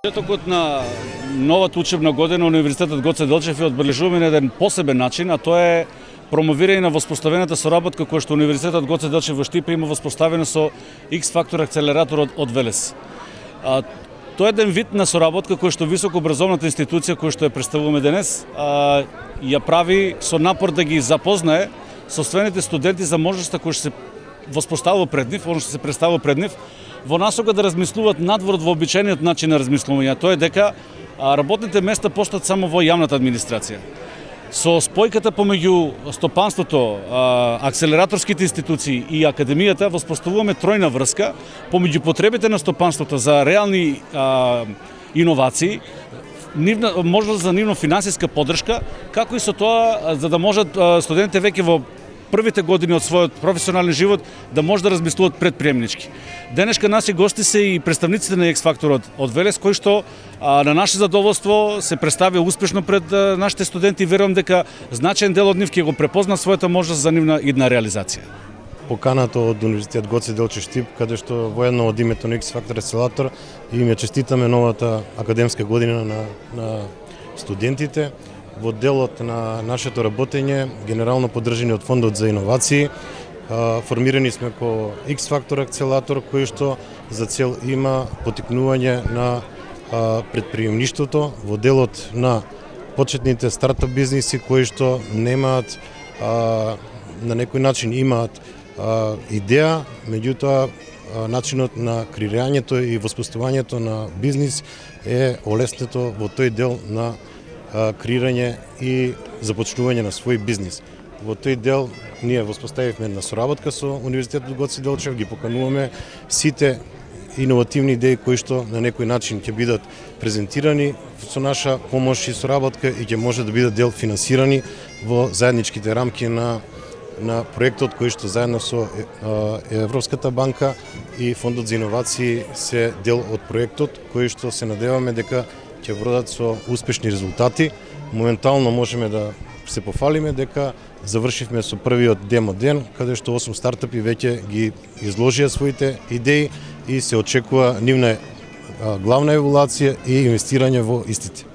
Почетокот на новата учебна година Универзитетот Гоце Делчев е одбележуваме на еден посебен начин, а тоа е промовирање на воспоставената соработка која што Универзитетот Гоце Делчев во Штипа има воспоставена со X-Factor акцелераторот од Велес. Тоа е еден вид на соработка која што високообразовната институција која што ја представуваме денес ја прави со напор да ги запознае соствените студенти за можноста која што се воспоставува пред нив, она што се представува пред нив, во насока да размислуваат надвор од вообичаениот начин на размислување, тоа е дека работните места постојат само во јавната администрација. Со спојката помеѓу стопанството, акцелераторските институции и академијата воспоставуваме тројна врска помеѓу потребите на стопанството за реални иновации, можност за нивна финансиска поддршка, како и со тоа за да можат студентите веќе во првите години од својот професионален живот да може да размислуваат предприемнички. Денешка наши гости се и представниците на X-Factor од Велес, кои што на наше задоволство се представија успешно пред нашите студенти и верувам дека значаен дел од нив ќе го препозна својата можност за нивна идна реализација. Поканата од Универзитет Гоце Делчев Штип, каде што воедно од името на X-Factor акцелератор им ја честитаме новата академска година на студентите. Во делот на нашето работење, генерално поддржани од Фондот за иновации, формирани сме ко X-Factor акцелератор, кој што за цел има потикнување на предприемништвото во делот на почетните стартап бизниси кои што немаат на некој начин имаат идеја, меѓутоа начинот на креирањето и воспоставувањето на бизнис е олеснето во тој дел на креирање и започнување на свој бизнис. Во тој дел ние воспоставивме една соработка со Универзитетот Гоце Делчев, ги покануваме сите иновативни идеи кои што на некој начин ќе бидат презентирани со наша помош и соработка и ќе може да бидат дел финансирани во заедничките рамки на проектот кој што заедно со Европската банка и Фондот за иновации се дел од проектот кој што се надеваме дека ќе водат со успешни резултати. Моментално можеме да се пофалиме дека завршивме со првиот демо ден, каде што 8 стартапи веќе ги изложија своите идеи и се очекува нивна главна еволуција и инвестирање во истите.